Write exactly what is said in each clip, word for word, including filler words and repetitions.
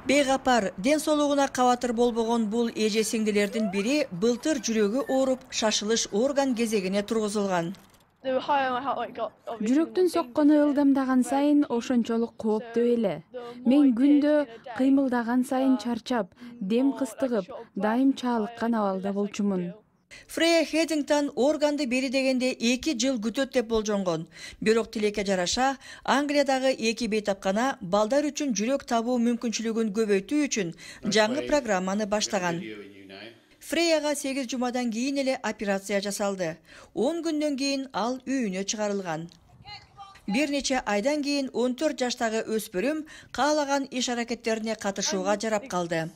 Бейгапар, ден соолугуна кабатыр болбогон бул эже сиңдилердин бири былтыр жүрөгү ооруп, шашылыш орган кезегине тургузулган. Жүрөктүн соккону ылдамдаган сайын ошончолук кооптуу эле. Мен күндө кыймылдаган сайын чарчап, дем кыстыгып, дайым чаалыккан абалда болчумун. Фрея Хедингтон органды бери дегенде эки жыл күтөт деп болжонгон. Бирок тилекке жараша, Англиядагы эки бейтапкана балдар үчүн жүрөк табуу мүмкүнчүлүгүн көбөйтүү үчүн жаңы программаны баштаган. Фреяга сегиз жумадан кийин эле операция жасалды. он күндөн кийин ал үйүнө чыгарылган. Бир нече айдан кийин он төрт жаштагы өспүрүм каалаган иш аракеттерине катышууга жарап калды.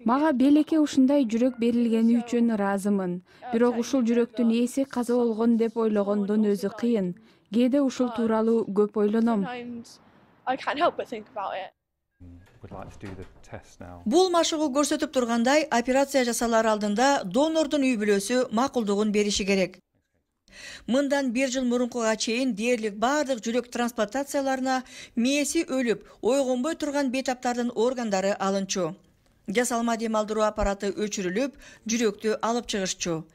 Мага белекке ушундай жүрөк берилгени үчүн ыраазымын. Бирок ушул жүрөктүн ээси каза болгон деп ойлогондон өзү кыйын. Кээде ушул тууралуу көп ойлоном. Бул машыгуу көрсөтүп тургандай, операция жасалар алдында донордун үй бүлөсү макулдугун бериши керек. Мындан бир жыл мурункуга чейин дээрлик бардык жүрөк трансплантацияларына мээси өлүп, ойгонбой турган бейтаптардын органдары алынчу. Жасалма демалдыруу аппараты өчүрүлүп, жүрөктү алып чыгышчу.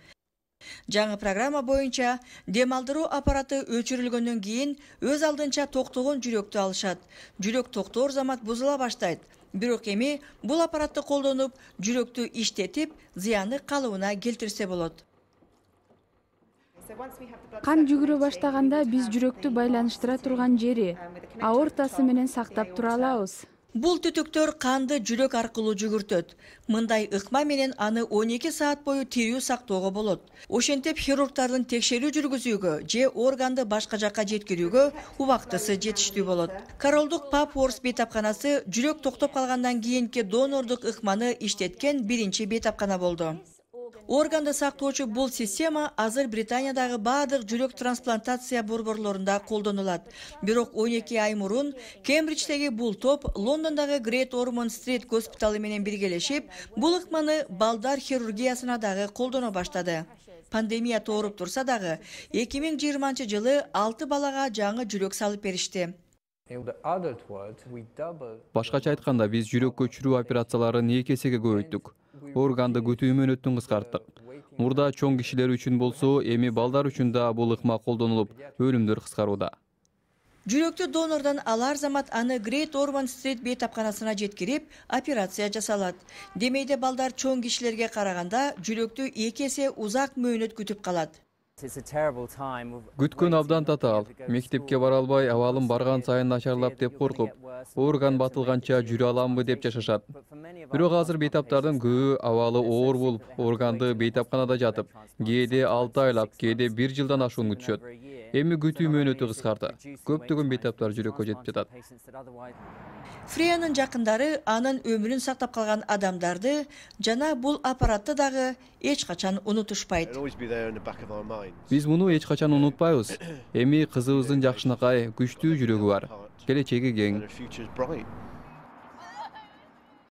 Жаңы программа боюнча демалдыруу аппараты өчүрүлгөндөн кийин өз алдынча токтогон жүрөктү алышат. Жүрөк токтоор замат бузула баштайт. Бирок эми бул аппаратты колдонуп, жүрөктү иштетип, зыяны калыбына келтирсе болот. Кан жүгүрө баштаганда биз жүрөктү байланыштыра турган жери, аортасы менен сактап тура алабыз. Бул түтүктөр канды жүрөк аркылуу жүгүртөт. Мындай ыкма менен аны он эки саат бою тирүү сактоого болот. Ошентип хирургдардын текшерүү жүргүзүүгө же органды башка жакка жеткирүүгө убактысы жетиштүү болот. Королдук Папворс бейтапканасы жүрөк токтоп калгандан кийинки донордук ыкманы иштеткен биринчи бейтапкана болду. Органды сактоочу бул система азыр Британиядагы бардык жүрөк трансплантация борборлорунда колдонулат. Бирок он эки ай мурун Кембридждеги бул топ Лондондогу Great Ormond Street госпиталы менен биргелешип, бул ыкманы балдар хирургиясына дагы колдоно баштады. Пандемия тооруп турса дагы, эки миң жыйырманчы жылы алты балага жаңы жүрөк салып беришти. Башкача айтканда, биз жүрөк көчүрүү операцияларын эки эсеге көбөйттүк. Органды күтүү мөөнөтүн кыскарттык. Мурда чоң кишилер үчүн болсо, эми балдар үчүн да бул ыкма колдонулуп, өлүмдөр кыскарууда. Жүрөктү донордон алар замат аны Great Ormond Street бейтапканасына жеткирип, операция жасалат. Демейде балдар чоң кишилерге караганда жүрөктү эки эсе узак мөөнөт күтүп калат. Күткөн абдан татаал. Мектепке бара албай, абалым барган сайын начарлап деп коркуп, орган батылганча жүрө аламбы деп жашашат. Бирок азыр бейтаптардын көбү абалы оор болуп, органды бейтапканада жатып, кээде алты айлап, кээде бир жылдан ашуун күтүшөт. Эми күтүү мөөнөтү кыскарды. Көптөгөн бейтаптар жүрөккө жетип жатат. Фреянын жакындары анын өмүрүн сактап калган адамдарды жана бул аппаратты дагы эч качан унутушпайт. Биз муну эч качан унутпайбыз. Эми кызыбыздын жакшынакай, күчтүү жүрөгү бар. Келечеги кең.